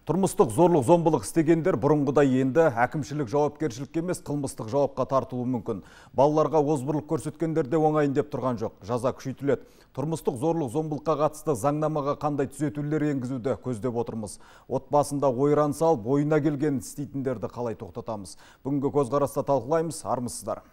Тұрмыстық зорлық зомбылық істегендер бұрынғыдай енді әкімшілік жауапкершілікке емес қылмыстық жауапқа тартылуы мүмкін. Балаларға озбырлық көрсеткендер де оңайын деп тұрған жоқ. Жаза күшейтіледі. Тұрмыстық зорлық зомбылыққа қатысты заңнамаға қандай түзетулер енгізуді көздеп отырмыз. Отбасында ойран салып, ойына келген істейтіндерді қалай тоқтатамыз? Бүгінгі көзқараста талқылаймыз, армысыздар.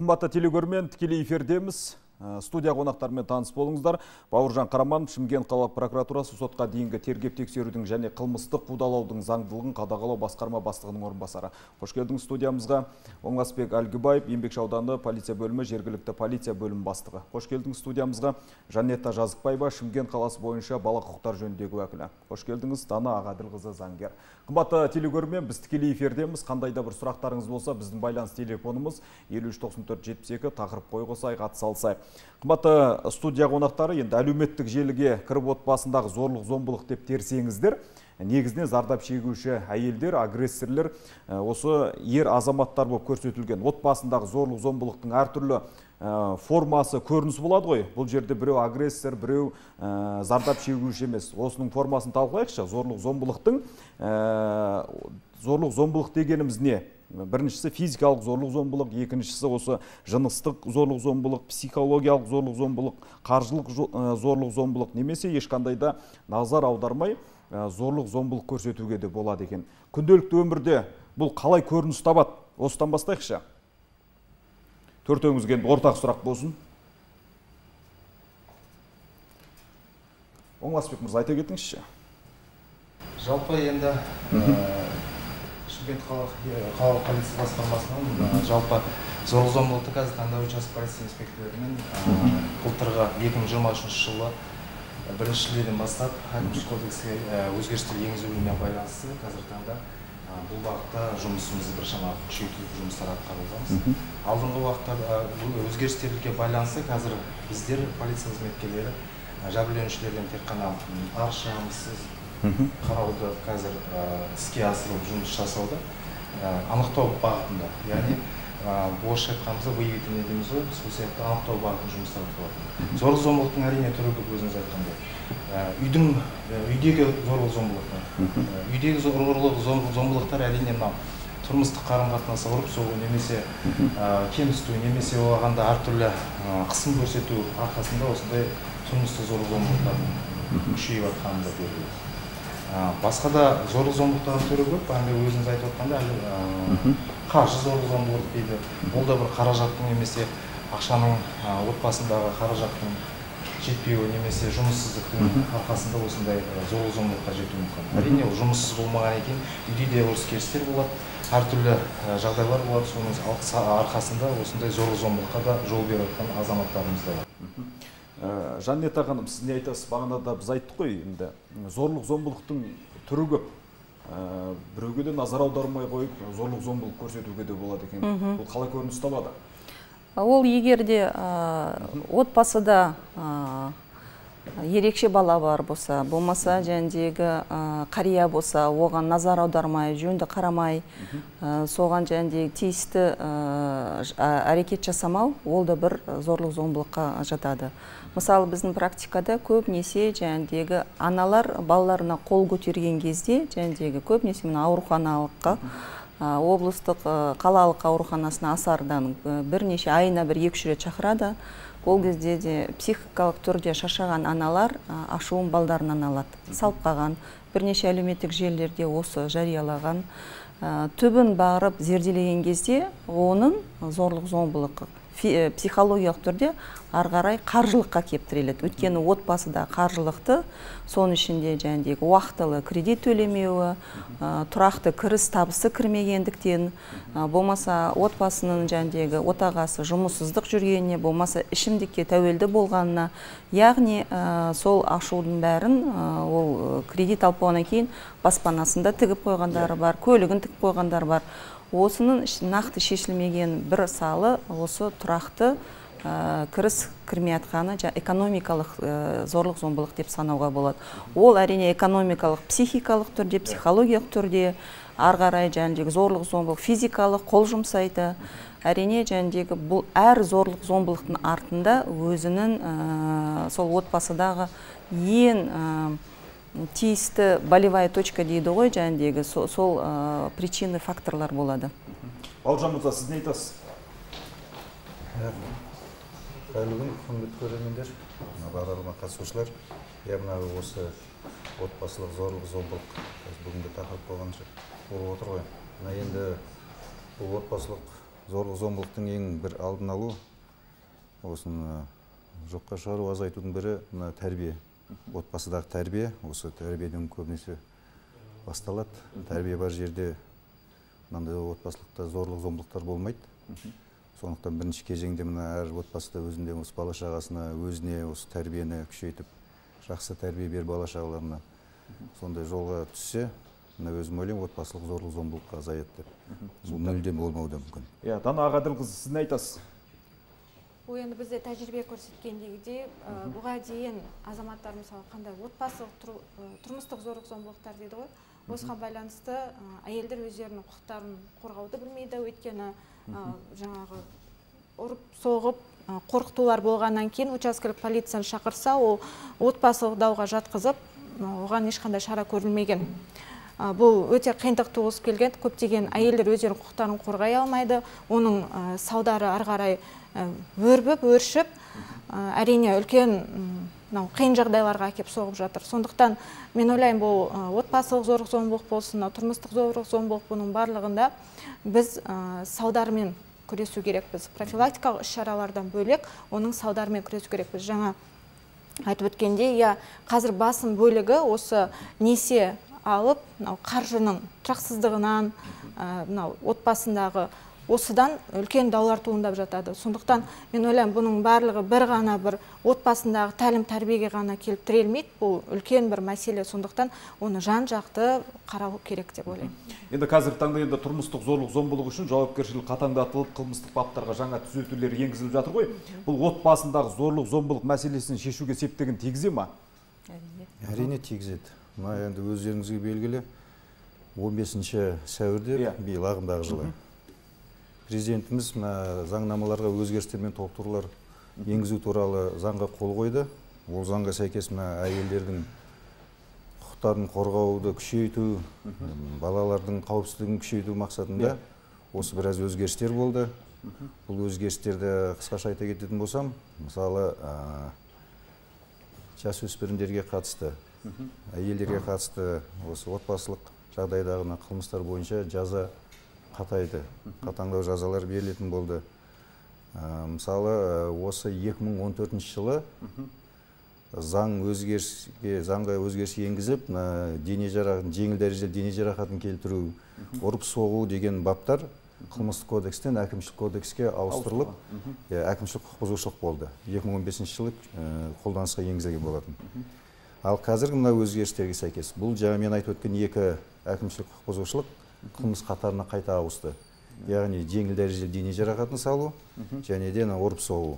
Қымбатты телегөрмен тікелей эфирдеміз. Студия қонақтарымен таныс болыңыздар. Бауыржан Қараманов, Шымкент қалалық прокуратурасы сотқа дейінгі тергеп тексерудің және қылмыстық қудалаудың заңдылығын қадағалау басқарма бастығының орынбасары. Қош келдіңіз студиямызға. Оңғасбек Әлгібаев, Еңбекші ауданы полиция бөлімі, жергілікті полиция бөлімі бастығы. Қош келдіңіз студиямызға. Жанетта Жазықбаева, Шымкент қаласы бойынша бала құқықтар жөніндегі уәкілі. Қош келдіңіз. Дана Ағаділқызы, заңгер. Қымбатты телегөрмен, біз тікелей эфирдеміз. Қандай да бір сұрақтарыңыз болса, біздің байланыс телефонымыз 539472, тақырып қой қосайық, ат салсайық. Қымбатты студия қонақтары, енді әлеуметтік желіге кіріп отбасындағы зорлық зомбылық деп терсеңіздер, негізінен зардап шегуші әйелдер, агрессорлер, осы ер азаматтар болып көрсетілген. Отбасындағы зорлық зомбылықтың әртүрлі формасы, көрінісі болады ғой. Бұл жерде біреу агрессор, біреу зардап шегуші емес. Осының формасын талқылайықшы. Зорлық зомбылық дегеніміз не? Біріншісі физикалық зорлық зомбылық, екіншісі осы жыныстық зорлық зомбылық, психологиялық зорлық зомбылық, қаржылық зорлық зомбылық, немесе ешқандай да назар аудармай зорлық зомбылық көрсетуге де болады екен. Күнделікті өмірде бұл қалай көрініс табады? Осыдан бастайықшы. Төртеуіңізге ортақ сұрақ болсын. Оңғасбек мырза, айта кетіңізші. Жалпы енді Шымкент қалалық полиция басқармасының жалпы зорлық зомбылықты қазір таңда участок полиция инспекторларымен былтырғы 2023 жылы 1 шілдеден бастап әкімшілік кодекске өзгерістер енгізілуіне байланысты қазір таңда бұл бағытта жұмысымызды біршама күшейтіп жұмыстар атқарудамыз. Алдыңғы уақытта өзгерістерге байланысты қазір біздер полиция қызметкерлері жәбірленушілерден тек қана арыз шағымсыз қарауды қазір іске асырып жұмыс жасауда анықтау бағытында, яғни орысша айтқанымызда выявительный дейміз ғой, сол сияқты анықтау бағытында жұмыстар атқарылады. Зорлық зомбылықтың әрине түрі көп, өзіңіз айтқандай. Үйдегі зорлық зомбылықтар. Үйдегі зорлық зомбылықтар әрине тұрмыстық қарым-қатынасы ұрып соғу немесе кемсіту немесе оғанда әртүрлі қысым көрсету арқасында осындай тұрмыстық зорлық зомбылықтардың күшейіп жатқаны да белгілі. Басқа да зорлық зомбылықтардың түрі көп, өзіңіз айтып отқанда қаржы зорлық зомбылық дейді. Ол да бір қаражаттың немесе ақшаның отбасындағы қаражаттың жетпеуі немесе жұмыссыздықтың арқасында осындай зорлық зомбылыққа жетуі мүмкін. Әрине ол жұмыссыз болмаған екен, үйде де ұрыс-керістер болады, әртүрлі жағдайлар болады, соның арқасында осындай зорлық зомбылыққа да жол беріп жатқан азаматтарымыз да бар. Жанетта ханым, сіз не айтасыз? Бағанада біз айттық қой, енді зорлық зомбылықтың түрі көп. Біреуге де назар аудармай қойып, зорлық зомбылық көрсетуге де болады екен. Бұл қалай көрініс табады? Ол егерде отбасыда ерекше бала бар болса, болмаса жәндегі қария болса, оған назар аудармай, жөнді қарамай, соған жәндегі тиісті әрекет жасамау, ол да бір зорлық зомбылыққа жатады. Мысалы, біздің практикада көбінесе жәндегі аналар балаларына қол көтерген кезде, жәндегі көбінесе ауруханалыққа, облыстық қалалық ауруханасына асардан бірнеше айына 1-2 рет шақырады. Ол кезде де психикалық түрде шаршаған аналар ашуын балдарынан алады. Салып қалған, бірнеше әлеуметтік желілерде осы жариялаған. Түбін барып зерделеген кезде оның зорлық зомбылық психологиялық түрде арғарай қаржылыққа кептіреледі. Өйткені отбасыда қаржылықты, соның ішінде жәндегі уақытылы кредит төлемеуі, тұрақты кіріс табысы кірмегендіктен, болмаса отбасының жәндегі отағасы жұмыссыздық жүргеніне, болмаса ішімдікке тәуелді болғанына, яғни сол ашудың бәрін ол кредит алып болғаннан кейін баспанасында тігіп қойғандары бар, көлігін тігіп қойғандары бар. Осының нақты шешілмеген бір салы осы тұрақты кіріс кірмей атқаны экономикалық зорлық зомбылық деп санауға болады. Ол әрине экономикалық, психикалық түрде, психологиялық түрде, арғарай зорлық зомбылық физикалық қол жұмсайды. Әрине бұл әр зорлық зомбылықтың артында өзінің сол отбасыдағы ең тиісті болевая точка дейді ғой, сол причины факторлар болады. Бауыржан мырза, сіз не айтасыз? Қайырлы күн, құрметті көрермендер, бағдарлама қатысушылар. Осы отбасылық зорлық зомбылық бүгінгі тақырып болғанша болып отыр ғой. Енді бұл отбасылық зорлық зомбылықтың ең бір алдын алу, осыны жоққа шығару, азайтудың бірі тәрбие. Отбасыдағы тәрбие, осы тәрбиеден көбінесе басталады. Тәрбие бар жерде мынандай отбасылықта зорлық зомбылықтар болмайды. Сондықтан бірінші кезеңде әр отбасыда өзінде осы бала шағасына, өзіне осы тәрбиені күшейтіп, жақсы тәрбие бер бала шағаларына сондай жолға түссе, өзім ойлаймын, отбасылық зорлық зомбылыққа азаяды деп. Бұл мүлдем болмауы да мүмкін. Дана Ағаділқызы, сіз не айтасыз? Енді бізде тәжірибе көрсеткендегідей, бұға дейін азаматтар мысалы қандай отбасылық тұрмыстық зорлық зомбылықтар дейді ғой, осыған байланысты әйелдер өздерінің құқықтарын қорғауды білмейді, өйткені жаңағы ұрып соғып қорқытулар болғаннан кейін учаскелік полицияны шақырса, ол отбасылық дауға жатқызып, оған ешқандай шара көрілмеген. Бұл өте қиындық туғызып келген, көптеген әйелдер өздерінің құқықтарын қорғай алмайды, оның салдары ары қарай өрбіп, өршіп, әрине үлкен қиын жағдайларға әкеп соғып жатыр. Сондықтан мен ойлаймын, бұл отбасылық зорлық зомбылық болсын, тұрмыстық зорлық зомбылық, бұның барлығында біз салдарымен күресу керекпіз. Профилактикалық іс-шаралардан бөлек, оның салдарымен күресу керекпіз. Жаңа айтып өткенде, қазір басым бөлігі осы несие алып, қаржының тұрақсыздығынан, отбасындағы осыдан үлкен даулар туындап жатады. Сондықтан мен ойлаймын, бұның барлығы бір ғана бір отбасындағы тәлім тәрбиеге ғана келіп тірелмейді. Бұл үлкен бір мәселе. Сондықтан оны жан-жақты қарау керек деп ойлаймын. Енді қазіргі таңда тұрмыстық зорлық зомбылық үшін жауапкершілік қатаңдатылып, қылмыстық баптарға жаңа түзетулер енгізіліп жатыр ғой. Бұл отбасындағы зорлық зомбылық мәселесін шешуге септігін тигізе ма? Әрине тигізеді. Енді өздеріңізге белгілі 15 сәуірде биыл ағымдағы жылы президентіміз заңнамаларға өзгерістер мен толықтырулар енгізу туралы заңға қол қойды. Ол заңға сәйкес әйелдердің құқықтарын қорғауды күшейту, балалардың қауіпсіздігін күшейту мақсатында осы біраз өзгерістер болды. Бұл өзгерістерді қысқаша айта кететін болсам, мысалы жасөспірімдерге қатысты, әйелдерге қатысты осы отбасылық жағдайдағы қылмыстар бойынша жаза қатайды, қатаңдау жазалар берілетін болды. Мысалы, осы 2014 жылы заңға өзгеріс енгізіп, жеңіл дәрежелі дене жарақатын келтіру, ұрып соғу деген баптар қылмыстық кодекстен әкімшілік кодекске ауыстырылып, әкімшілік құқық бұзушылық болды. 2015 жылы қолданысқа енгізілген болатын. Ал қазіргі өзгерістерге сәйкес, бұл мен айтып өткен екі әкімшілік құқық бұзушылық қылмыс қатарына қайта ауысты. Яғни жеңіл дәрежелі дене жарақатын салу және де ұрып соғу.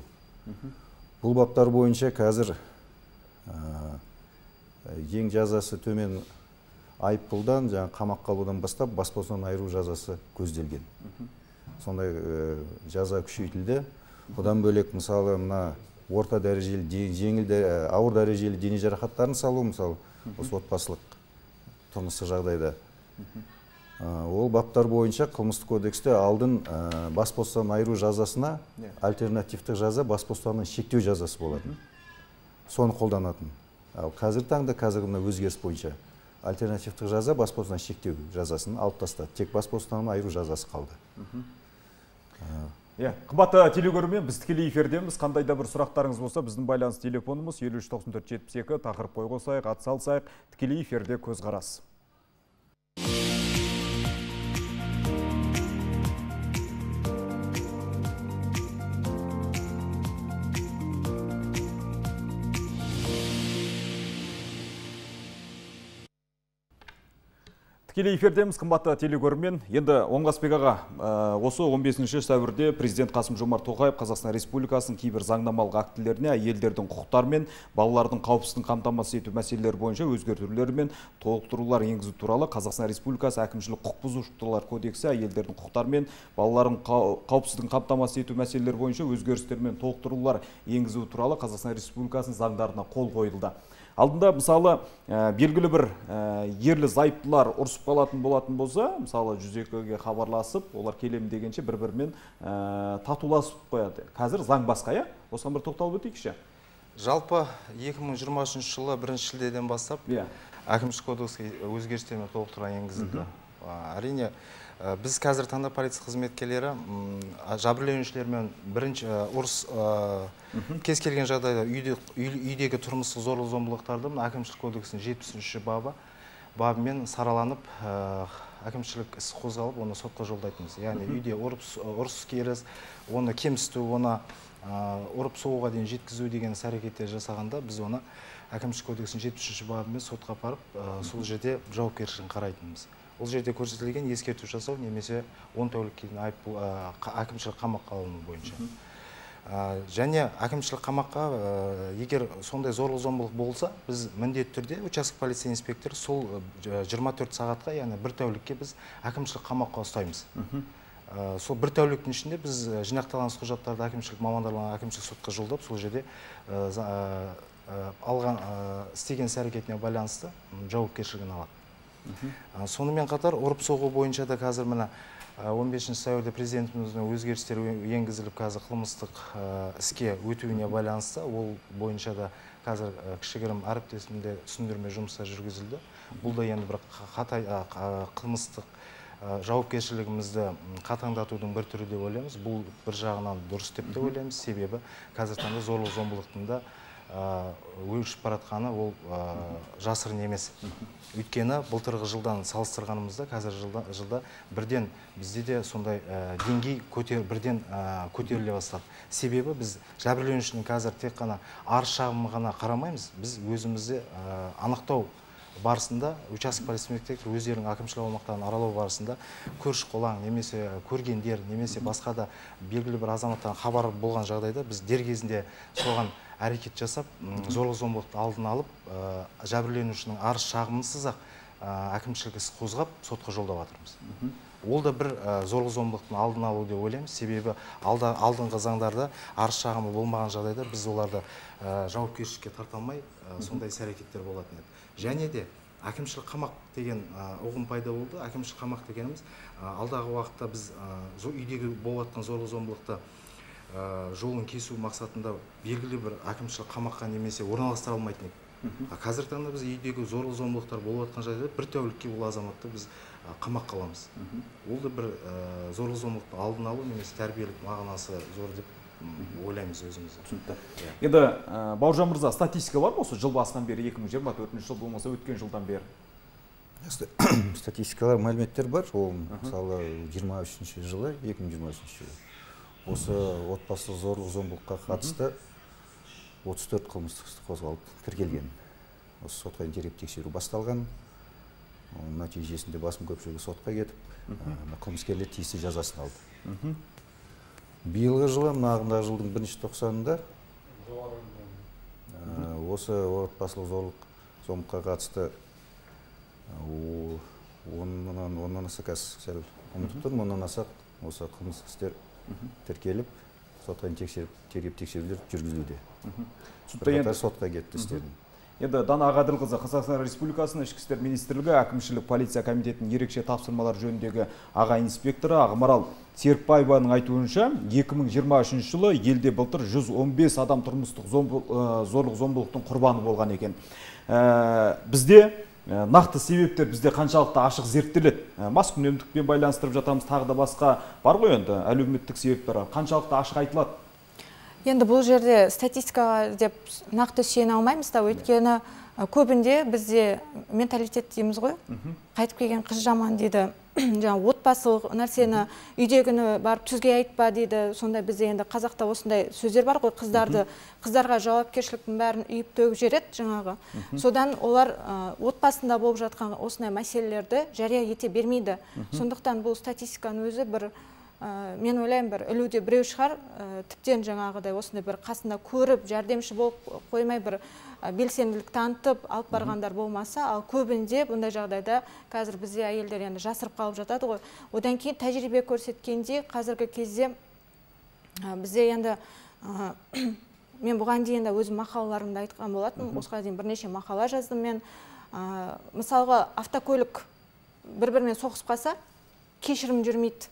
Бұл баптар бойынша қазір ең жазасы төмен айыппұлдан, қамаққа алудан бастап бас бостандығынан айыру жазасы көзделген. Сондай жаза күшейтілді. Бұдан бөлек мысалы орта дәрежелі, ауыр дәрежелі дене жарақаттарын салу, мысалы осы отбасылық тұрмыстық жағдайда. Ол баптар бойынша қылмыстық кодексте алдын бас бостандығынан айыру жазасына альтернативтік жаза бас бостандығын шектеу жазасы болатын. Соны қолданатын. Ал қазіргі таңда өзгеріс бойынша альтернативтік жаза бас бостандығын шектеу жазасын алып тастады. Тек бас бостандығынан айыру жазасы қалды. Қымбатты телегөрермен, біз тікелей эфирдеміз. Қандай да бір сұрақтарыңыз болса, біздің байланыс телефонымыз 739472, тақырып қой қосайық, ат салсайық, тікелей эфирде көзқарас. Тікелей эфирдеміз, қымбатты телекөрермен. Енді Оңғасбек аға, осы 15 сәуірде президент Қасым-Жомарт Тоқаев Қазақстан Республикасының кейбір заңнамалық актілеріне әйелдердің құқықтары мен балалардың қауіпсіздігін қамтамасыз ету мәселелері бойынша өзгертулер мен толықтырулар енгізу туралы Қазақстан Республикасы әкімшілік құқық бұзушылықтар кодексі әйелдердің құқықтары мен балалардың қауіпсіздігін қамтамасыз ету мәселелері бойынша өзгерістер мен толықтырулар енгізу туралы Қазақстан Республикасының заңдарына қол қойылды. Алдында мысалы белгілі бір ерлі зайыптылар ұрсып қалатын болатын болса, мысалы 102-ге хабарласып, олар келем дегенше бір-бірімен татуласып қояды. Қазір заң басқа, иә? Осыған бір тоқталып өтейікші. Жалпы 2023 жылы 1 шілдеден бастап әкімшілік кодекске өзгерістер мен толықтырулар енгізілді. Әрине, біз қазір таңда полиция қызметкерлері жәбірленушілермен бірінші ұрыс кез келген жағдайда үйдегі тұрмыстық зорлық-зомбылықтарды әкімшілік кодексінің 73 бабымен сараланып, әкімшілік іс қозғалып, оны сотқа жолдайтынбыз. Яғни үйде ұрыс керіс, оны кемсіту, оны ұрып соғуға дейін жеткізу деген іс-әрекеттер жасағанда, біз оны әкімшілік кодексінің 73 бабымен сотқа апарып, сол жерде жауапкершілігін қарайтынбыз. Ол жерде көрсетілген ескерту жасау немесе 10 тәулікке дейін әкімшілік қамаққа алыну бойынша. Және әкімшілік қамаққа егер сондай зорлық-зомбылық болса, біз міндетті түрде участок полиция инспекторы сол 24 сағатқа, яғни 1 тәулікке біз әкімшілік қамаққа ұстаймыз. Сол 1 тәуліктің ішінде біз жинақталған құжаттарды әкімшілік мамандарларға әкімшілік сотқа жолдап, сол жерде алған істеген іс-әрекетіне байланысты жауапкершілігін алады. Сонымен қатар ұрып соғу бойынша да қазір мына 15 сәуірде президентіміздің өзгерістер енгізіліп, қазір қылмыстық іске өтуіне байланысты, ол бойынша да қазір кішігірім әріптесімде түсіндірме жұмыстар жүргізілді. Бұл да енді бір қылмыстық жауапкершілігімізді қатаңдатудың бір түрі деп ойлаймыз. Бұл бір жағынан дұрыс деп те ойлаймыз, себебі қазір таңда зорлық-зомбылықтың да өршіп баратқаны ол жасырын емес. Өйткені былтырғы жылдан салыстырғанымызда қазір жылда бірден бізде де сондай деңгей бірден көтеріле бастады. Себебі біз жәбірленушінің қазір тек қана арыз шағымы ғана қарамаймыз, біз өзімізді анықтау барысында участок полиция инспекторы өздерінің әкімшілік аумақтарын аралау барысында көрші-қолаң немесе көргендер немесе басқа да белгілі бір азаматтан хабар болған жағдайда біз дер кезінде соған әрекет жасап, зорлық-зомбылықты алдын алып, жәбірленушінің арыз шағымынсыз-ақ әкімшілік іс қозғап, сотқа жолдап жатырмыз. Ол да бір зорлық-зомбылықтың алдын алу деп ойлаймыз, себебі алдыңғы заңдарда арыз шағымы болмаған жағдайда біз оларды жауапкершілікке тарта алмай, сондай іс-әрекеттер болатын еді. Және де әкімшілік қамақ деген ұғым пайда болды. Әкімшілік қамақ дегеніміз алдағы уақытта біз үйдегі болып жатқан зорлық-зомбылықты жолын кесу мақсатында белгілі бір әкімшілік қамаққа немесе орналастыра алмайтын еді. Қазіргі таңда біз үйдегі зорлық-зомбылықтар болып жатқан жағдайда 1 тәулікке ол азаматты біз қамаққа аламыз. Ол да бір зорлық-зомбылықты алдын алу немесе тәрбиелік мағынасы зор деп ойлаймыз өзіміз. Түсінікті. Енді Бауыржан мырза, статистика бар ма осы жыл басынан бері, 2024 жыл болмаса өткен жылдан бері? Статистикалар, мәліметтер бар. Ол мысалы 23 жылы, 2023 жылы. Осы отбасылық зорлық-зомбылыққа қатысты 34 қылмыстық іс қозғалып тіркелген. Осы сотқа тергеп-тексеру басталған. Нәтижесінде басым көпшілігі сотқа кетіп, қылмыскерлер тиісті жазасын алды. Биылғы жылы, ағымдағы жылдың 1-тоқсанында осы отбасылық зорлық-зомбылыққа қатысты оннан аса сәл ұмытып тұрмын, оннан аса осы қылмыстық істер тіркеліп, сотқа тергеп-тексерулер жүргізілуде. Бірқатар сотқа кетті істердің. Енді Дана Ағаділқызы, Қазақстан Республикасының Ішкі істер министрлігі әкімшілік полиция комитетінің ерекше тапсырмалар жөніндегі аға инспекторы Ағымарал Серікбаеваның айтуынша, 2023 жылы елде былтыр 115 адам тұрмыстық зорлық-зомбылықтың құрбаны болған екен. Бізде нақты себептер бізде қаншалықты ашық зерттеледі. Маскүнемдікпен байланыстырып жатамыз, тағы да басқа бар ғой енді әлеуметтік себептер, қаншалықты ашық айтылады? Енді бұл жерде статистикаға деп нақты сүйене алмаймыз да, өйткені көбінде бізде менталитет дейміз ғой, қайтып келген қыз жаман дейді. жаңа отбасылық нәрсені үйдегіні барып түзге айтпа дейді. Сондай бізде енді қазақта осындай сөздер бар ғой, қыздарға жауапкершіліктің бәрін үйіп төгіп жереді жаңағы. Содан олар отбасында болып жатқан осындай мәселелерді жария ете бермейді. Сондықтан бұл статистиканың өзі бір мен ойлаймын, бір ілуде біреу шығар, тіптен жаңағыдай осындай бір қасында көріп, жәрдемші болып қоймай бір белсенділік танытып алып барғандар болмаса, ал көбінде бұндай жағдайда қазір бізде әйелдер енді жасырып қалып жатады ғой. Одан кейін тәжірибе көрсеткенде қазіргі кезде бізде енді мен бұған дейін де өзім мақалаларымда айтқан болатын, осыған дейін бірнеше мақала жаздым мен. Мысалға автокөлік бір-бірімен соғысып қалса, кешірім жүрмейді.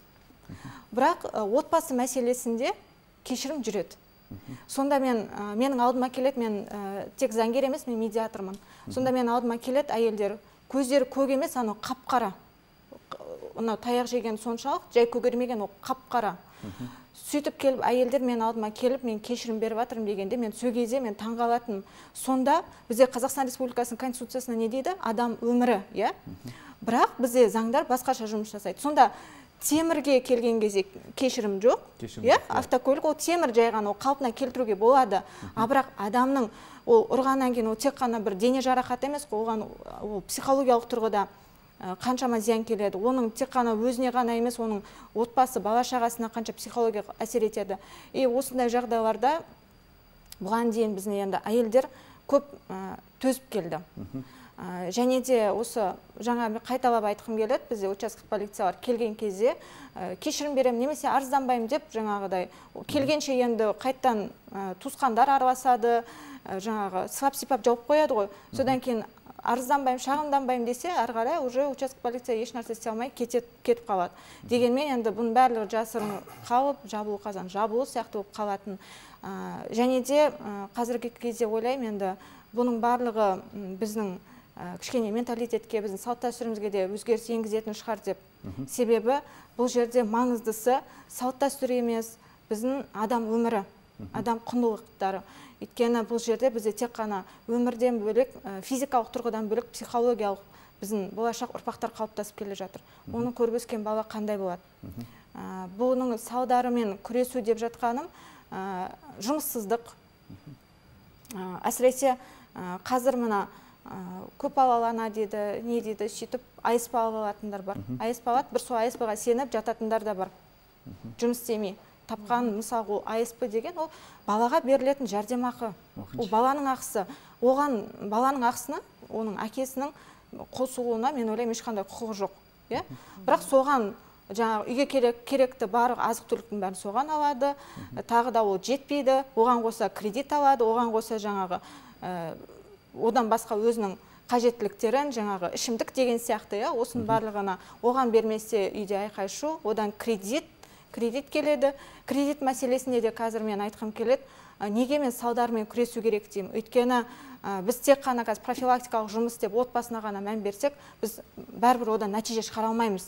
Бірақ отбасы мәселесінде кешірім жүреді. Сонда менің алдыма келеді, мен тек заңгер емес, мен медиатормын. Сонда мен алдыма келеді әйелдер, көздері көк емес, анау қап-қара. Анау таяқ жеген соншалық, жай көгермеген, ол қап-қара. Сөйтіп келіп, әйелдер мен алдыма келіп, мен кешірім беріп жатырмын дегенде, мен сол кезде мен таңғалатынмын. Сонда бізде Қазақстан Республикасының Конституциясында не дейді? Адам өмірі, иә? Бірақ бізде заңдар басқаша жұмыс жасайды. Сонда темірге келген кезде кешірім жоқ, автокөлік ол темір жайған, ол қалпына келтіруге болады. Бірақ адамның ол ұрғаннан кейін ол тек қана бір дене жарақаты емес, оған ол психологиялық тұрғыда қаншама зиян келеді. Оның тек қана өзіне ғана емес, оның отбасы, бала шағасына қанша психологиялық әсер етеді. Осындай жағдайларда бұған дейін біздің енді әйелдер көп төзіп келді. Және де осы жаңа қайталап айтқым келеді, бізде учаскелік полициялар келген кезде кешірім беремін немесе арызданбаймын деп жаңағыдай келгенше енді қайттан туысқандар араласады, жаңағы сылап-сипап жауып қояды ғой. Содан кейін арызданбаймын, шағымданбаймын десе, ары қарай уже учаскелік полиция еш нәрсе істей алмай кетіп қалады. Дегенмен енді бұның барлығы жасырын қалып, жабулы қазан жабулы сияқты болып қалатын. Және де қазіргі кезде ойлаймын, енді бұның барлығы біздің кішкене менталитетке, біздің салт дәстүрімізге де өзгеріс енгізетін шығар деп. Себебі бұл жерде маңыздысы салт дәстүр емес, біздің адам өмірі, адам құндылықтары. Өйткені бұл жерде бізде тек қана өмірден бөлек, физикалық тұрғыдан бөлек, психологиялық біздің болашақ ұрпақтар қалыптасып келе жатыр. Оны көріп өскен бала қандай болады? Бұның салдарымен күресу деп жатқаным жұмыссыздық. Әсіресе қазір мына көпбалалы ана дейді, не дейді, сөйтіп айыспалы алатындар бар. Айыспалы алады, бір сол айыспыға сеніп жататындар да бар. Жұмыс істемей тапқан, мысалы, айыспы деген ол балаға берілетін жәрдемақы. Ол баланың ақысы. Оған баланың ақысына, оның әкесінің қосылуына мен ойлаймын ешқандай құқығы жоқ. Бірақ соған жаңағы үйге керекті барлық азық-түліктің бәрін соған алады. Тағы да ол жетпейді. Оған қоса кредит алады, оған қоса жаңағы одан басқа өзінің қажеттіліктерін, жаңағы ішімдік деген сияқты, осының барлығына оған бермесе үйде айқай-шу, одан кредит келеді. Кредит мәселесінде де қазір мен айтқым келеді, неге мен салдарымен күресу керек деймін. Өйткені біз тек қана қазір профилактикалық жұмыс деп отбасына ғана мән берсек, біз бәрібір одан нәтиже шығара алмаймыз.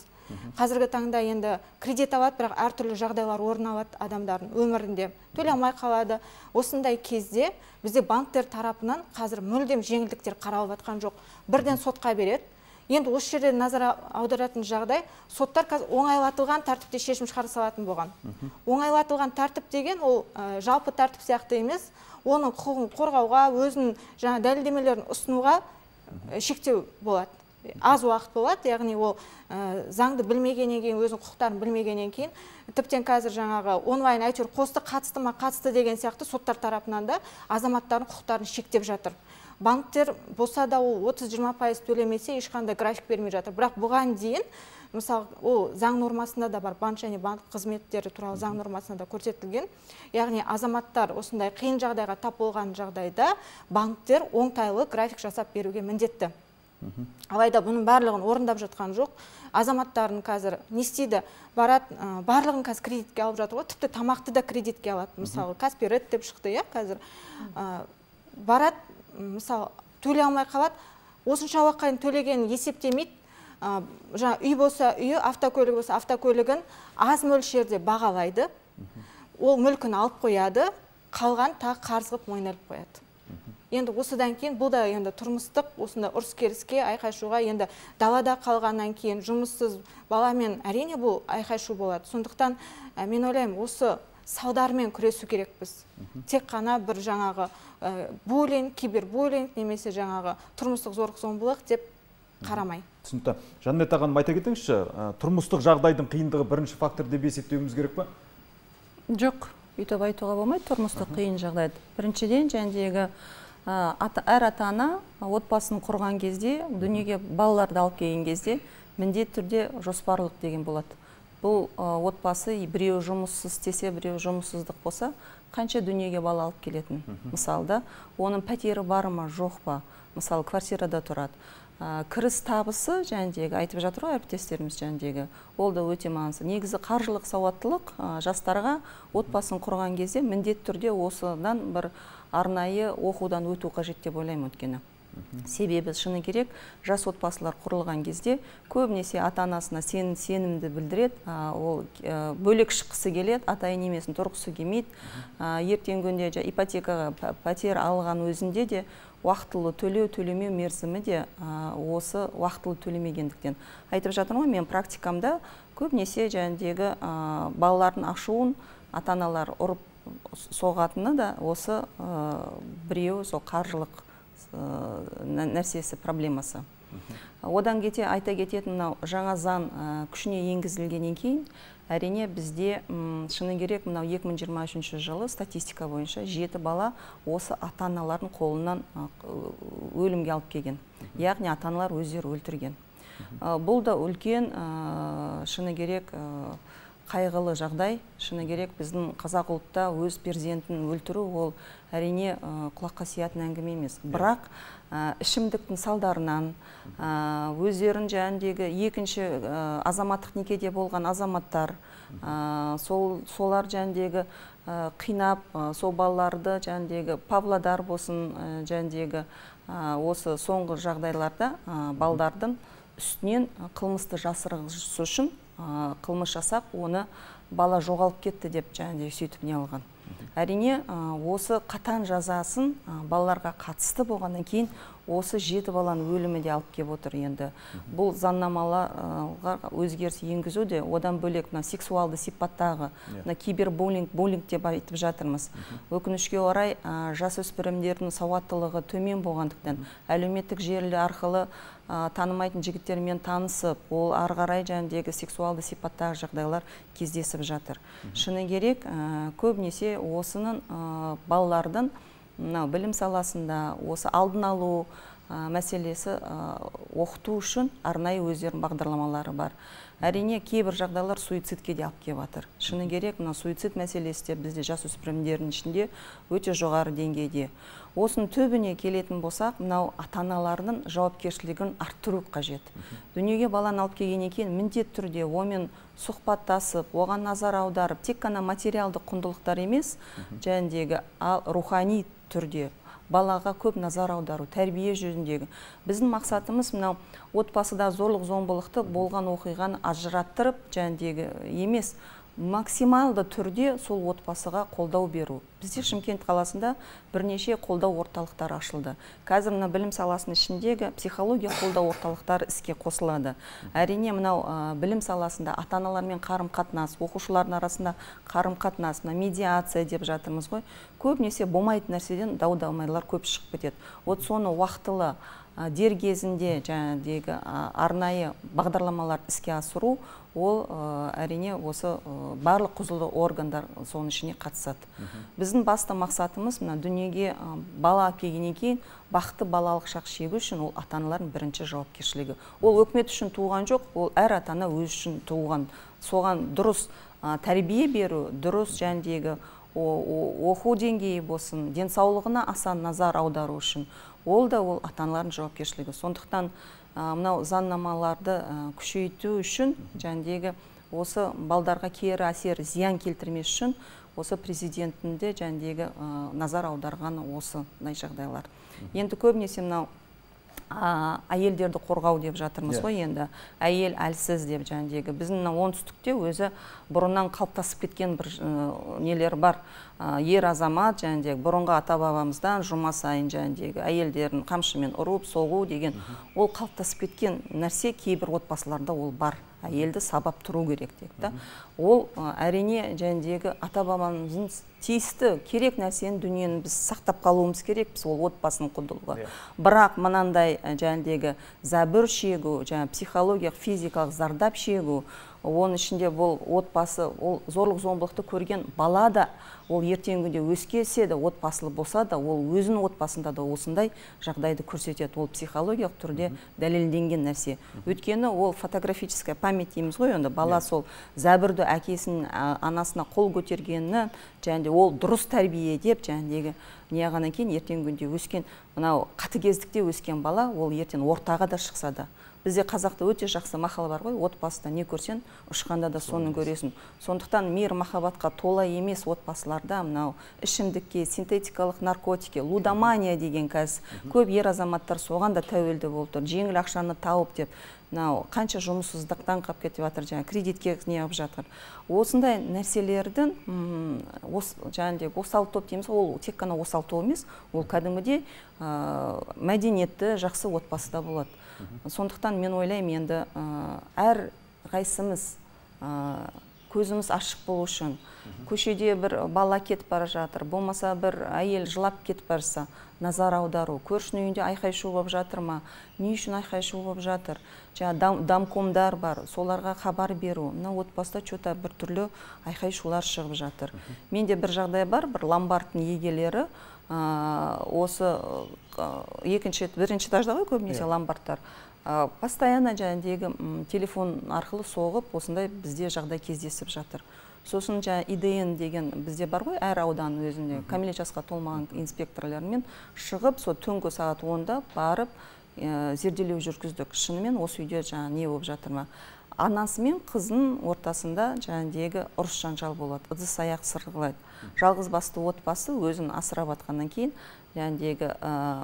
Қазіргі таңда енді кредит алады, бірақ әртүрлі жағдайлар орын алады адамдардың өмірінде. Төлей алмай қалады. Осындай кезде бізде банктер тарапынан қазір мүлдем жеңілдіктер қаралып жатқан жоқ. Бірден сотқа береді. Енді осы жерде назар аударатын жағдай, соттар қазір оңайлатылған тәртіпте шешім шығарса алатын болған. Оңайлатылған тәртіп деген ол жалпы тәртіп сияқты емес, оның құқығын қорғауға, өзінің жаңа дәлелдемелерін ұсынуға шектеу болады. Аз уақыт болады, яғни ол заңды білмегеннен кейін, өзінің құқықтарын білмегеннен кейін, тіптен қазір жаңағы онлайн әйтеуір қосты қатысты ма қатысты деген сияқты соттар тарапынан да азаматтардың құқықтарын шектеп жатыр. Банктер болса да ол 30-20% төлемесе ешқандай график бермей жатыр. Бірақ бұған дейін, мысалы, ол заң нормасында да бар, банк және банк қызметтері туралы заң нормасында да көрсетілген. Яғни азаматтар осындай қиын жағдайға тап болған жағдайда банктер оңтайлы график жасап беруге міндетті. Алайда бұның барлығын орындап жатқан жоқ. Азаматтардың қазір не істейді? Барады, барлығын қазір кредитке алып жатыр ғой, тіпті тамақты да кредитке алады. Мысалы, Каспирет деп шықты, қазір барады, мысалы, төлей алмай қалады, осынша уақытқа төлегенін есептемейді. Жаңа үй болса үйі, автокөлігі болса автокөлігін аз мөлшерде бағалайды. Ол мүлкін алып қояды, қалған тағы қарыз қылып мойындалып қояды. енді осыдан кейін бұл да енді тұрмыстық осында ұрыс керіске айқай-шуға, енді далада қалғаннан кейін жұмыссыз баламен әрине бұл айқай-шу болады. Сондықтан мен ойлаймын, осы салдармен күресу керекпіз. Тек қана бір жаңағы буллинг, кибербуллинг немесе жаңағы тұрмыстық зорлық-зомбылық деп қарамай. Түсінікті. Жаннат ағаным, айта кетіңізші, тұрмыстық жағдайдың қиындығы бірінші фактор деп есептеуіміз керек пе? Жоқ, өйтіп айтуға болмайды тұрмыстық қиын жағдайды. Біріншіден, жәндегі әр ата-ана отбасын құрған кезде, дүниеге балаларды алып келген кезде, міндетті түрде жоспарлық деген болады. Бұл отбасы біреу жұмыссыз істесе, біреу жұмыссыздық болса, қанша дүниеге бала алып келетін. Мысалда, оның пәтері бар ма, жоқ па? Мысалы, квартирада тұрады. Кіріс табысы жәндегі, айтып жатыр ғой әріптестеріміз жәндегі, ол да өте маңызды. Негізі қаржылық сауаттылық жастарға отбасын құрған кезде міндетті түрде осыдан бір арнайы оқудан өту қажет деп ойлаймын өткені. Себебі шыны керек, жас отбасылар құрылған кезде көбінесе ата-анасына сенімді білдіреді, ол бөлек шыққысы келеді, ата-ана немесін тұрғысы келмейді. Ертеңгі күнде ипотекаға пәтер алған өзінде де уақытылы төлемеу мерзімі де осы уақытылы төлемегендіктен. Айтып жатырмын ғой, мен практикамда көбінесе жәндегі балалардың ашуын ата-аналар ұрып соғатыны да осы біреу сол қаржылық нәрсесі, проблемасы. Одан кете айта кететін мынау жаңа заң күшіне енгізілгеннен кейін, әрине бізде шыны керек мынау 2023 жылы статистика бойынша 7 бала осы ата-аналардың қолынан өлімге алып келген. Яғни ата-аналар өздері өлтірген. Бұл да үлкен шыны керек қайғылы жағдай. Шыны керек біздің қазақ ұлтта өз перзентін өлтіру ол әрине құлаққа сиятын әңгіме емес. Бірақ ішімдіктің салдарынан өздерін жәндегі екінші азаматтық некеде болған азаматтар солар жәндегі қинап, сол балаларды жәндегі Павлодар болсын жәндегі осы соңғы жағдайларда балдардың үстінен қылмысты жасырғысы үшін қылмыс жасап, оны бала жоғалып кетті деп және сөйтіп не алған. Әрине, осы қатаң жазасын балаларға қатысты болғаннан кейін осы 7 баланың өлімі де алып келіп отыр енді. Бұл заңнамаларға өзгеріс енгізу де, одан бөлек сексуалды сипаттағы кибербуллинг деп айтып жатырмыз. Өкінішке орай жасөспірімдердің сауаттылығы төмен болғандықтан әлеуметтік желі арқылы танымайтын жігіттермен танысып, ол ары қарай жәндегі сексуалды сипаттағы жағдайлар кездесіп жатыр. Шыны керек, көбінесе осының балалардың білім саласында осы алдын алу мәселесі оқыту үшін арнайы өздерінің бағдарламалары бар. Әрине, кейбір жағдайлар суицидке де алып келіп жатыр. Шыны керек, суицид мәселесі де бізде жасөспірімдердің ішінде өте жоғары деңгейде. Осының төбіне келетін болсақ, мынау ата-аналардың жауапкершілігін арттыру қажет. Дүниеге баланы алып келгеннен кейін міндетті түрде онымен сұхбаттасып, оған назар аударып, тек қана материалдық құндылықтар емес, жәндегі рухани түрде балаға көп назар аудару, тәрбие жөніндегі. Біздің мақсатымыз мынау отбасыда зорлық-зомбылықты болған оқиғаны ажыраттырып, жәндегі емес, максималды түрде сол отбасыға қолдау беру. Бізде Шымкент қаласында бірнеше қолдау орталықтары ашылды. Қазір мына білім саласының ішіндегі психология қолдау орталықтары іске қосылады. Әрине, мынау білім саласында ата-аналармен қарым-қатынас, оқушылардың арасында қарым-қатынас, медиация деп жатырмыз ғой. Көбінесе болмайтын нәрседен дау-дамайлар көп шығып кетеді. Вот соны уақытылы дер кезінде жаңағыдегі арнайы бағдарламалар іске асыру, ол әрине осы барлық құзырлы органдар соның ішіне қатысады. Біздің басты мақсатымыз мына дүниеге бала алып келгеннен кейін бақытты балалық шақ шегу үшін ол ата-аналардың бірінші жауапкершілігі. Ол үкімет үшін туған жоқ, ол әр ата-ана өз үшін туған. Соған дұрыс тәрбие беру, дұрыс жәндегі оқу деңгейі болсын, денсаулығына аса назар аудару үшін ол да ол ата-аналардың жауапкершілігі. Сондықтан мынау заңнамаларды күшейту үшін жәндегі осы балдарға кері әсер зиян келтірмес үшін осы президентінде жәндегі назар аударған осы жағдайлар. Енді көбінесе мынау әйелдерді қорғау деп жатырмыз ғой енді. Әйел әлсіз деп жәндегі. Біздің оңтүстікте өзі бұрыннан қалыптасып кеткен бір нелер бар. Ер азамат жәндегі бұрынғы ата-бабамыздан жұма сайын жәндегі әйелдерін қамшымен ұрып, соғу деген ол қалыптасып кеткен нәрсе кейбір отбасыларда ол бар. Әйелді сабап тұру керек дейді. Ол әрине жәндегі ата-бабамыздың тиісті керек нәрсені дүниені біз сақтап қалуымыз керекпіз, ол отбасының құндылығы. Бірақ мынандай жәндегі зәбір шегу, психологиялық, физикалық зардап шегу, оның ішінде бұл отбасы, ол зорлық-зомбылықты көрген бала да, ол ертеңгі күнде өскесе де, отбасылы болса да, ол өзінің отбасында да осындай жағдайды көрсетеді. Ол психологиялық түрде дәлелденген нәрсе. Өйткені ол фотографическая память дейміз ғой, онда бала сол зәбірді әкесінің анасына қол көтергені, және ол дұрыс тәрбие деп, жәндегі неғаннан кейін ертеңгі күнде өскен, мынау қатыгездікте өскен бала, ол ертең ортаға да шықса да. Бізде қазақта өте жақсы мақал бар ғой, отбасында не көрсен, ұшқанда да соны көресің. Сондықтан мейір махаббатқа тола емес отбасыларда мынау ішімдікке, синтетикалық наркотикке, лудомания деген қазір көп ер азаматтар соған да тәуелді болып тұр. Жеңіл ақшаны тауып деп, мынау қанша жұмыссыздықтан қап кетіп жатыр, жаңа кредитке неғып жатыр. Осындай нәрселердің жаңағыдай осал топ дейміз, ол тек қана осал топ емес, ол кәдімгідей мәдениетті жақсы отбасыда болады. Сондықтан мен ойлаймын енді әр қайсымыз көзіміз ашық болу үшін, көшеде бір бала кетіп бара жатыр, болмаса бір әйел жылап кетіп барса, назар аудару, көршінің үйінде айқай-шу болып жатыр ма, не үшін айқай-шу болып жатыр, домкомдар бар, соларға хабар беру. Мына отбасыда что-то бір түрлі айқай-шулар шығып жатыр. Менде бір жағдай бар, бір ломбардтың егелері, осы бірінші этажда ғой көбінесе ломбардтар. Постоянно жәндегі телефон арқылы соғып, осындай бізде жағдай кездесіп жатыр. Сосын ИДН деген бізде бар ғой, әр аудан өзінде кәмелет жасқа толмаған инспекторлармен шығып, сол түнгі сағат 10-да барып зерделеу жүргіздік. Шынымен осы үйде не болып жатыр ма? Анасы мен қызының ортасында жәндегі ұрыс жанжал болады, ыдыс аяқ сырғылайды. Жалғыз басты отбасы өзін асырап атқаннан кейін жәндегі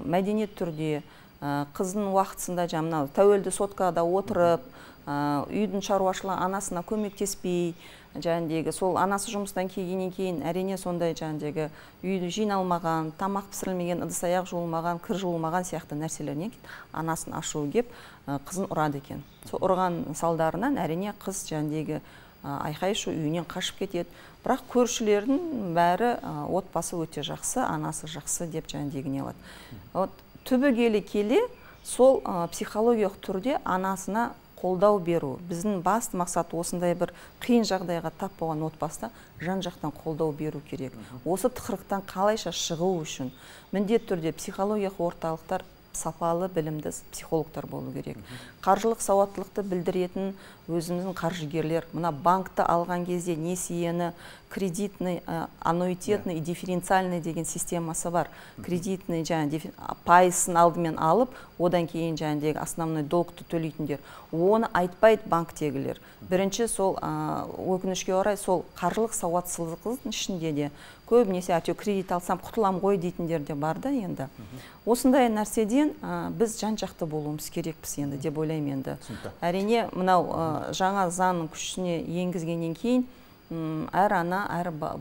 мәдениет түрде қыздың уақытысында жаңағы тәуелді соткада отырып, үйдің шаруашылығы анасына көмектеспей, жәндегі сол анасы жұмыстан келгеннен кейін әрине сондай жәндегі үйді жиналмаған, тамақ пісірілмеген, ыдыс аяқ жуылмаған, кір жуылмаған сияқты нәрселерінен анасын ашуы кеп қызын ұрады екен. Сол ұрған салдарынан әрине қыз жәндегі айқай-шу үйінен қашып кетеді. Бірақ көршілердің бәрі отбасы өте жақсы, анасы жақсы деп жәндегі не алады. Түбегейлі келе сол психологиялық түрде анасына қолдау беру. Біздің басты мақсат осындай бір қиын жағдайға тап болған отбасыда жан-жақтан қолдау беру керек. Осы тығырықтан қалайша шығу үшін міндетті түрде психологиялық орталықтар сапалы білімді психологтар болу керек. Қаржылық сауаттылықты білдіретін өзіміздің қаржыгерлер, мына банкты алған кезде несиені кредитный, аннуитетный и дифференциальный деген системасы бар. Кредитный пайызын алдымен алып, одан кейін жәндегі основной долгты төлейтіндер. Оны айтпайды банктегілер. Бірінші сол өкінішке орай сол қаржылық сауатсыздықтың ішінде де көбінесе әйтеу кредит алсам құтылам ғой дейтіндер де бар да енді. Осындай нәрседен біз жан-жақты болуымыз керекпіз енді деп ойлаймын енді. Әрине мынау жаңа заңның күшіне енгізгеннен кейін әр ана,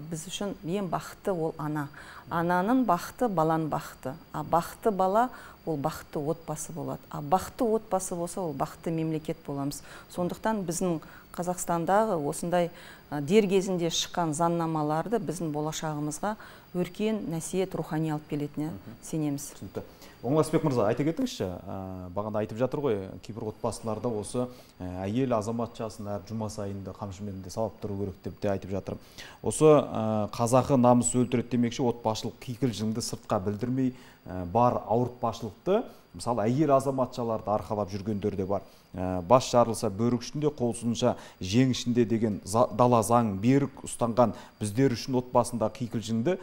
біз үшін ең бақытты ол ана. Ананың бақыты баланың бақыты. А бақытты бала ол бақытты отбасы болады. А бақытты отбасы болса ол бақытты мемлекет боламыз. Сондықтан біздің Қазақстандағы осындай дер кезінде шыққан заңнамаларды біздің болашағымызға өркен, нәсиет, рухани алып келетініне сенеміз. Оңғасбек мырза, айта кетіңізші, бағанда айтып жатыр ғой, кейбір отбасыларда осы әйел азаматшасын әр жұма сайында қамшымен де сабап тұру керек деп те айтып жатыр. Осы қазақы намыс өлтіреді демекші, отбасылық кикілжіңді сыртқа білдірмей бар ауыртпашылықты, мысалы әйел азаматшаларды арқалап жүргендер де бар. Бас жарылса бөрік ішінде, қол сынса жең ішінде деген дала заң берік ұстанған біздер үшін отбасында кикілжіңді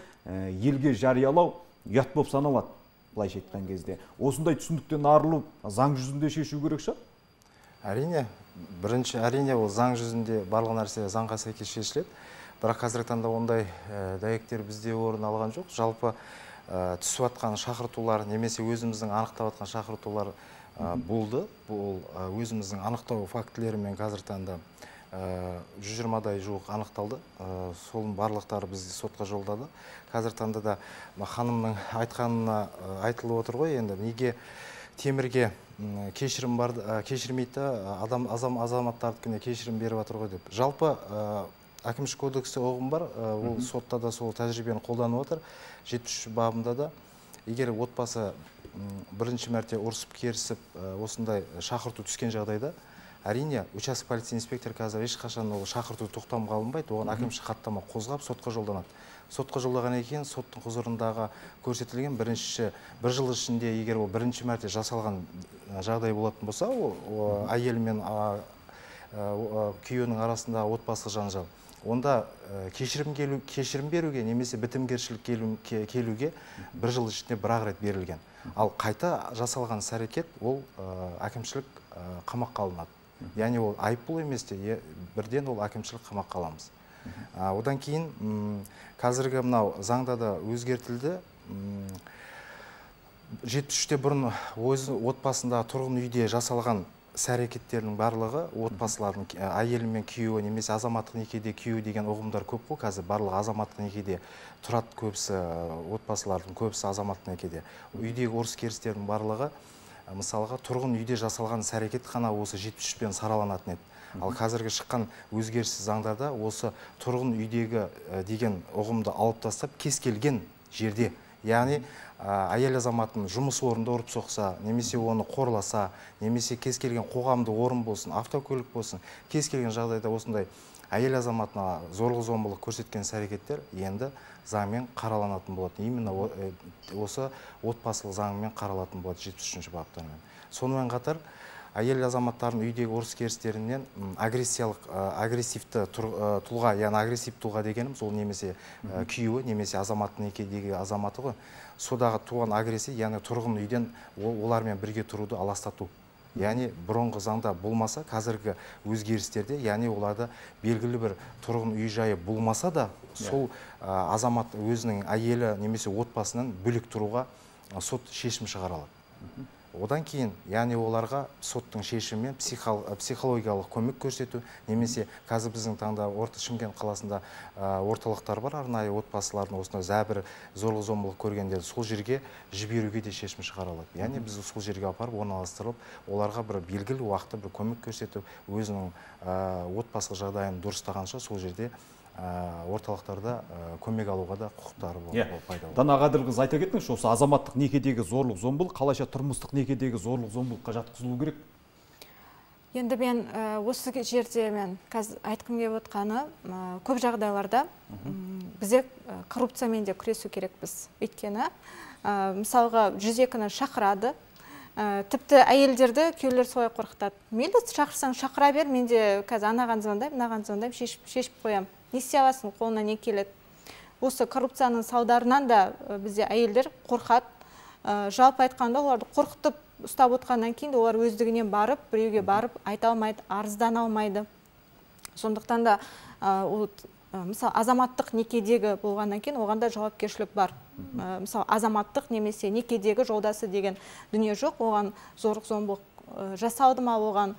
елге жариялау ұят болып саналады. Былайша айтқан кезде. Осындай түсініктен арылып, заң жүзінде шешу керек шығар? Әрине, бірінші әрине ол заң жүзінде барлық нәрсе заңға сәйкес шешіледі. Бірақ қазіргі таңда ондай дәйектер бізде орын алған жоқ. Жалпы түсіп жатқан шақыртулар немесе өзіміздің анықтап жатқан шақыртулар болды. Бұл өзіміздің анықтау фактілерімен қазір таңда 120-дай жуық анықталды. Солың барлықтары біз сотқа жолдады. Қазір таңда да ханымның айтқанына айтылып отыр ғой, енді неге темірге кешірім бар, кешірмейді, азаматтардікіне кешірім беріп жатыр ғой деп. Жалпы әкімшілік кодексте ұғым бар, ол сотта да сол тәжірибені қолданып отыр. 73 бабында да егер отбасы бірінші мәрте ұрысып керісіп осындай шақырту түскен жағдайда, әрине, участок полиция инспектор қазір ешқашан ол шақырту тоқтамға алынбайды, оған әкімшілік хаттама қозғап сотқа жолданады. Сотқа жолдағаннан кейін соттың құзырындағы көрсетілген бір жыл ішінде егер ол бірінші мәрте жасалған жағдай болатын болса, әйел мен күйеуінің арасында отбасы жанжал, онда кешірім беруге немесе бітімгершілік келуге бір жыл ішінде бір-ақ рет берілген. Ал қайта жасалған іс-әрекет ол әкімшілік қамаққа алынады. Яғни ол айыппұл емес те, бірден ол әкімшілік қамаққа аламыз. Одан кейін қазіргі мынау заңда да өзгертілді. 73-те бұрын отбасында тұрғын үйде жасалған іс-әрекеттердің барлығы отбасылардың әйелі мен күйеуі немесе азаматтық некеде күйеуі деген ұғымдар көп қой. Қазір барлығы азаматтық некеде тұрады, көбісі отбасылардың көбісі азаматтық некеде. Үйдегі ұрыс-керістердің барлығы мысалға тұрғын үйде жасалған іс-әрекет қана осы 73-пен сараланатын еді. Ал қазіргі шыққан өзгеріссіз заңдарда осы тұрғын үйдегі деген ұғымды алып тастап, кез келген жерде, яғни әйел азаматын жұмыс орнында ұрып соқса, немесе оны қорласа, немесе кез келген қоғамды орын болсын, автокөлік болсын, кез келген жағдайда осындай әйел азаматына зорлық-зомбылық көрсеткен іс-әрекеттер енді заңмен қараланатын болады. Именно осы отбасылық заңмен қаралатын болады 73-ші баптармен. Сонымен қатар әйел азаматтардың үйдегі ұрыс-керістерінен агрессивті тұлға, яғни агрессив тұлға дегеніміз, ол немесе күйеуі, немесе азаматтық некедегі азаматы ғой. Содағы туған агрессия, яғни тұрғын үйден олармен бірге тұруды аластату. Яғни бұрынғы заңда болмаса, қазіргі өзгерістерде, яғни оларда белгілі бір тұрғын үй жайы болмаса да, сол азамат өзінің әйелі немесе отбасынан бөлек тұруға сот шешім шығаралады. Одан кейін, яғни оларға соттың шешімімен психологиялық көмек көрсету, немесе қазір біздің таңда Шымкент қаласында орталықтар бар, арнайы отбасылардың осындай зәбір, зорлық-зомбылық көргендерді сол жерге жіберуге де шешім шығарылады. Яғни біз сол жерге апарып, орналастырылып, оларға бір белгілі уақытта бір көмек көрсетіп, өзінің отбасылық жағдайын дұрыстағанша сол жерде орталықтарда көмек алуға да құқықтары пайда. Дана Ғаділқызы, айта кетіңізші, осы азаматтық некедегі зорлық-зомбылық қалайша тұрмыстық некедегі зорлық-зомбылыққа жатқызылу керек? Енді мен осы жерде мен қазір айтқым келіп отқаны, көп жағдайларда бізде коррупциямен де күресу керекпіз. Өйткені мысалға 102-ні шақырады, тіпті әйелдерді күйеулер солай қорқытады. Мейлі шақырсаң шақыра бер, мен де қазір анаған звондаймын, мынаған звондаймын, шешіп қоямын. Не істей аласың, қолына не келеді. Осы коррупцияның салдарынан да бізде әйелдер қорқады. Жалпы айтқанда оларды қорқытып ұстап отқаннан кейін олар өздігінен барып, біреуге барып айта алмайды, арыздан алмайды. Сондықтан да мысалы азаматтық некедегі болғаннан кейін оғанда жауапкершілік бар. Мысалы азаматтық немесе некедегі жолдасы деген дүние жоқ, оған зорлық-зомбылық жасалды ма, оған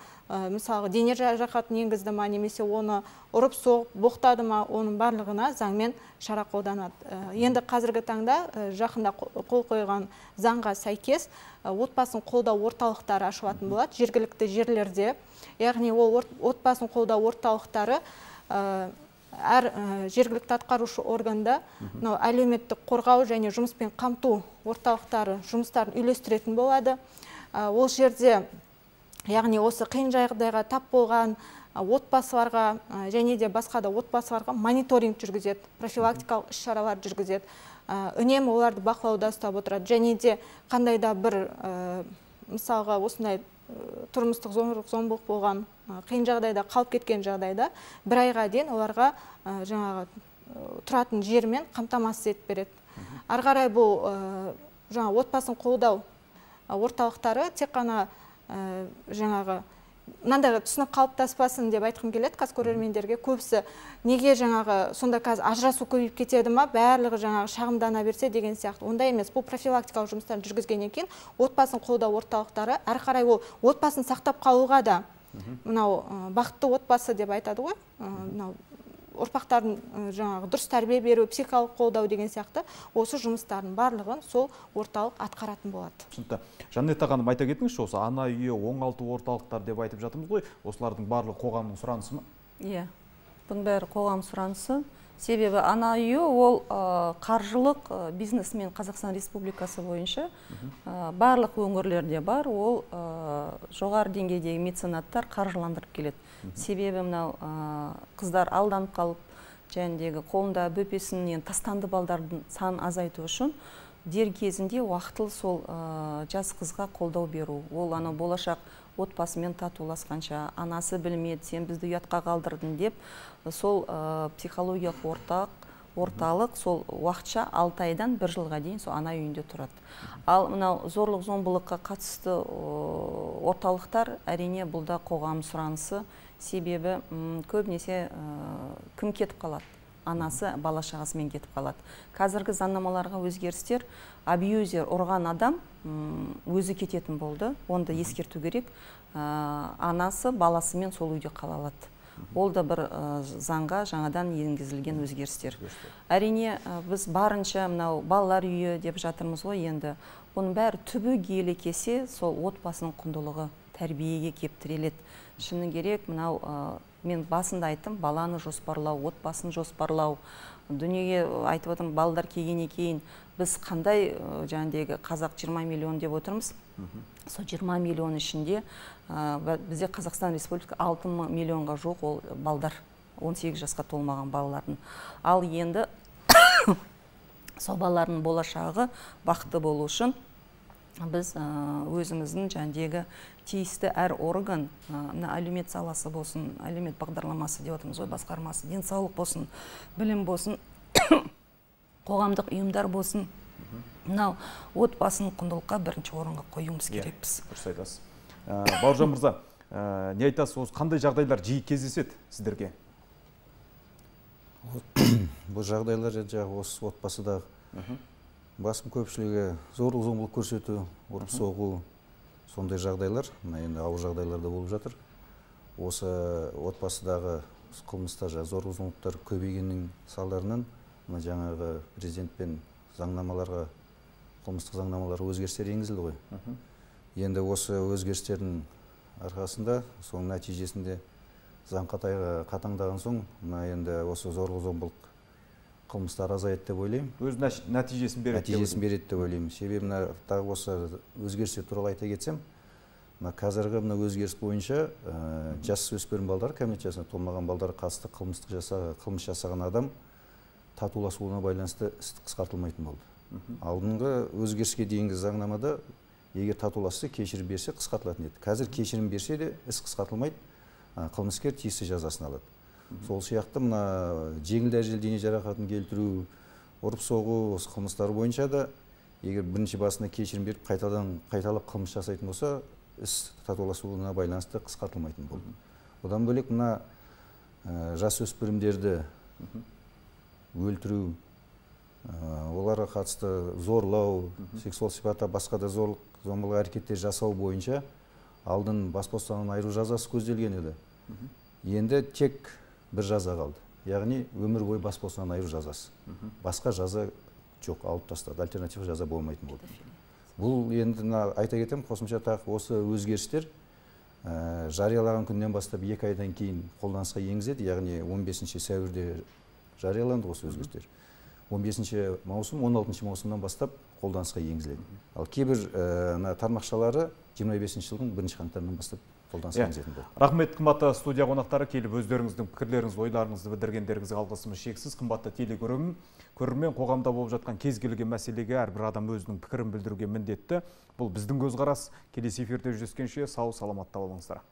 мысалы дене жарақатын енгізді ма, немесе оны ұрып соғып боқтады ма, оның барлығына заңмен шара қолданады. Енді қазіргі таңда жақында қол қойған заңға сәйкес отбасын қолдау орталықтары ашылатын болады жергілікті жерлерде. Яғни ол отбасын қолдау орталықтары әр жергілікті атқарушы органда әлеуметтік қорғау және жұмыспен қамту орталықтары жұмыстарын үйлестіретін болады. Ол жерде, яғни осы қиын жағдайға тап болған отбасыларға және де басқа да отбасыларға мониторинг жүргізеді, профилактикалық іс-шаралар жүргізеді. Үнемі оларды бақылауда ұстап отырады. Және де қандай да бір мысалға осындай тұрмыстық зорлық-зомбылық болған қиын жағдайда қалып кеткен жағдайда бір айға дейін оларға жаңағы тұратын жермен қамтамасыз етіп береді. Ары қарай бұл жаңағы отбасын қолдау орталықтары тек қана жаңағы мынандай түсінік қалыптаспасын деп айтқым келеді қазір көрермендерге. Көбісі неге жаңағы сонда қазір ажырасу көбейіп кетеді ма, барлығы жаңағы шағымдана берсе деген сияқты. Ондай емес. Бұл профилактикалық жұмыстарын жүргізгеннен кейін отбасын қолдау орталықтары әрі қарай ол отбасын сақтап қалуға да мынау бақытты отбасы деп айтады ғой. Мынау ұрпақтардың жаңағы дұрыс тәрбие беру, психикалық қолдау деген сияқты осы жұмыстардың барлығын сол орталық атқаратын болады. Түсінікті. Жаннета ханым, айта кетіңізші, осы ана үйі, оңалту орталықтар деп айтып жатырмыз ғой, осылардың барлығы қоғамның сұранысы ма? Иә, бұның бәрі қоғам сұранысы. Себебі ана үйі ол қаржылық бизнесмен Қазақстан Республикасы бойынша барлық өңірлерде бар, ол жоғары деңгейдегі меценаттар қаржыландырып келеді. Себебі мынау қыздар алданып қалып, жәндегі қолында бөпесінен тастанды балдардың санын азайту үшін дер кезінде уақытылы сол жас қызға қолдау беру. Ол ана болашақ отбасымен татуласқанша, анасы білмеді, сен бізді ұятқа қалдырдың деп, сол психологиялық орталық сол уақытша 6 айдан 1 жылға дейін сол ана үйінде тұрады. Ал мынау зорлық-зомбылыққа қатысты орталықтар әрине бұлда қоғам сұранысы. Себебі көбінесе кім кетіп қалады? Анасы бала шағасымен кетіп қалады. Қазіргі заңнамаларға өзгерістер, абьюзер, ұрған адам өзі кететін болды. Онда ескерту керек. Анасы баласымен сол үйде қала алады. Ол да бір заңға жаңадан енгізілген өзгерістер. Әрине біз барынша мынау балалар үйі деп жатырмыз ғой енді. Оның бәрі түбегейлі келсе, сол отбасының құндылығы тәрбиеге кептіреледі. Шыны керек, мынау мен басында айттым, баланы жоспарлау, отбасын жоспарлау. Дүниеге айтып отырмын, балдар келгеннен кейін біз қандай жаңағы қазақ 20 миллион деп отырмыз. Сол 20 миллион ішінде бізде Қазақстан Республика 6 миллионға жоқ ол балдар, 18 жасқа толмаған балалардың. Ал енді сол балалардың болашағы бақытты болу үшін біз өзіміздің жаңағы тиісті әр орган, әлеумет саласы болсын, әлеумет бағдарламасы деп отырмыз ғой, басқармасы, денсаулық болсын, білім болсын, қоғамдық ұйымдар болсын, мынау отбасын құндылыққа бірінші орынға қоюымыз керекпіз. Дұрыс айтасыз. Бауыржан мырза, не айтасыз, осы қандай жағдайлар жиі кездеседі сіздерге? Бұл жағдайлар жаңағы осы отбасыдағы басым көпшілігі зорлық-зомбылық көрсету, ұрып соғу, сондай жағдайлар, енді ауыр жағдайларда болып жатыр. Осы отбасыдағы қылмыстар, зорлық-зомбылықтар көбейгеннің салдарынан жаңағы президентпен заңнамаларға, қылмыстық заңнамаларға өзгерістер енгізілді ғой. Енді осы өзгерістердің арқасында, соның нәтижесінде заң қатаңдаған соң, енді осы зорлық-зомбылық қылмыстар азаяды деп ойлаймын. Өз нәтижесін береді деп ойлаймын. Себебі тағы осы өзгерістер туралы айта кетсем, қазіргі өзгеріс бойынша жасөспірім балдар, кәмелет жасына толмаған балдар қатысты қылмыс жасаған адам татуласуына байланысты іс қысқартылмайтын болды. Алдыңғы өзгеріске дейінгі заңнамада егер татуласса, кешірім берсе қысқартылатын еді. Қазір кешірім берсе де іс қысқартылмайды, қылмыскер тиісті жазасын алады. Сол сияқты жеңіл дәрежелі дене жарақатын келтіру, ұрып соғу осы қылмыстар бойынша да егер бірінші басына кешірім беріп қайталап қылмыс жасайтын болса, іс татуласуына байланысты қысқартылмайтын болды. Одан бөлек жасөспірімдерді өлтіру, оларға қатысты зорлау, сексуал сипатта басқа да зорлық-зомбылық әрекеттер жасау бойынша алдын бас бостандығынан айыру жазасы көзделген еді. Енді тек бір жаза қалды. Яғни өмір бойы бас бостандығынан айыру жазасы. Басқа жаза жоқ, алып тастады. Альтернатива жаза болмайтын болды. Бұл енді айта кетем, қосымша тағы осы өзгерістер жариялаған күннен бастап 2 айдан кейін қолданысқа енгізеді. Яғни 15 сәуірде жарияланды осы өзгерістер. 15 маусым, 16 маусымнан бастап қолданысқа енгізіледі. Ал кейбір тармақшалары 25 жылдың 1 қаңтарынан бастап қолданысқа енгізетін болды. Рахмет, қымбатты студия қонақтары, келіп өздеріңіздің пікірлеріңіз, ойларыңызды білдіргендеріңізге алғысымыз шексіз. Қымбатты телекөрермен, қоғамда болып жатқан кез келген мәселеге әрбір адам өзінің пікірін білдіруге міндетті. Бұл біздің көзқарас. Келесі эфирде жүздескенше сау саламатта болыңыздар.